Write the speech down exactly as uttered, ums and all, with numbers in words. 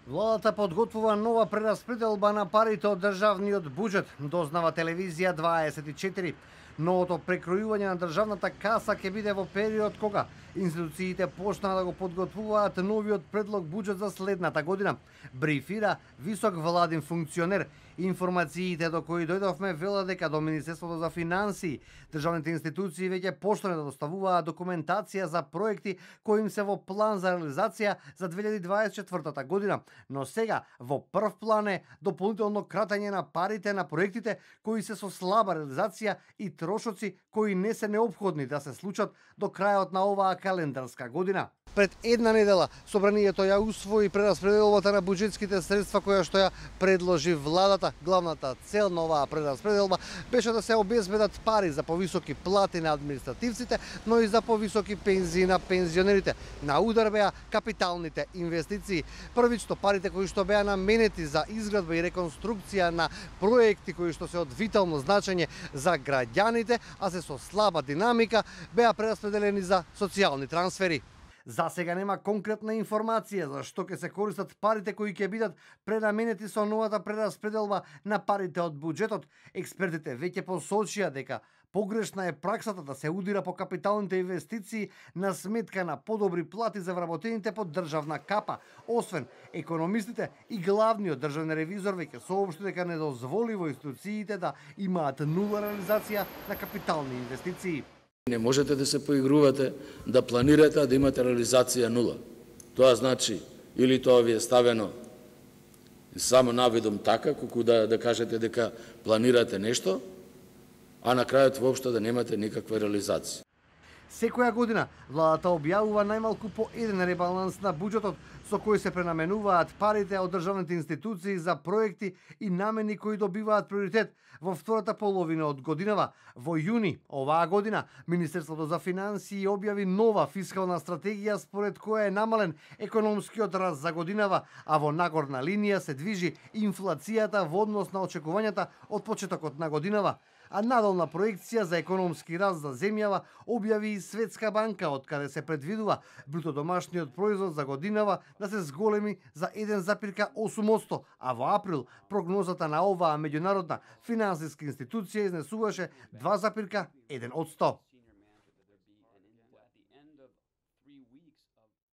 Владата подготвува нова прераспределба на парите од државниот буџет, дознава телевизија дваесет и четири. Новото прекројување на државната каса ќе биде во период кога институциите почнаа да го подготвуваат новиот предлог буџет за следната година, брифира висок владин функционер. Информациите до кои дојдовме велат дека до Министерството за финансии државните институции веќе почнале да доставуваат документација за проекти кои им се во план за реализација за две илјади дваесет и четвртата година, но сега во прв план е дополнително кратење на парите на проектите кои се со слаба реализација и трошоци кои не се неопходни да се случат до крајот на оваа календарска година. Пред една недела собранието ја усвои прераспределбата на буџетските средства која што ја предложи владата. Главната цел на оваа прераспределба беше да се обезбедат пари за повисоки плати на административците, но и за повисоки пензии на пензионерите. На удар беа капиталните инвестиции. Првично парите кои што беа наменети за изградба и реконструкција на проекти кои што се од витално значење за граѓаните, а се со слаба динамика, беа прераспределени за социјални трансфери. За сега нема конкретна информација за што ќе се користат парите кои ќе бидат пренаменети со новата прераспределба на парите од буџетот. Експертите веќе посочија дека погрешна е праксата да се удира по капиталните инвестиции на сметка на подобри плати за вработените под државна капа. Освен економистите и главниот државен ревизор веќе соопшти дека недозволиво институциите да имаат нула реализација на капитални инвестиции. Не можете да се поигрувате, да планирате, а да имате реализација нула. Тоа значи, или тоа ви е ставено само навидом така, колку да, да кажете дека планирате нешто, а на крајот воопшто да немате никаква реализација. Секоја година владата објавува најмалку по еден ребаланс на буџетот со кој се пренаменуваат парите од државните институции за проекти и намени кои добиваат приоритет во втората половина од годинава. Во јуни оваа година Министерството за финансии објави нова фискална стратегија според која е намален економскиот раст за годинава, а во нагорна линија се движи инфлацијата во однос на очекувањата од почетокот на годинава. А надолна проекција за економски раст за земјава објави и Светска банка, од каде се предвидува бруто домашниот производ за годинава да се зголеми за еден запирка осум одсто, а во април прогнозата на оваа меѓународна финансиска институција изнесуваше два запирка еден одсто.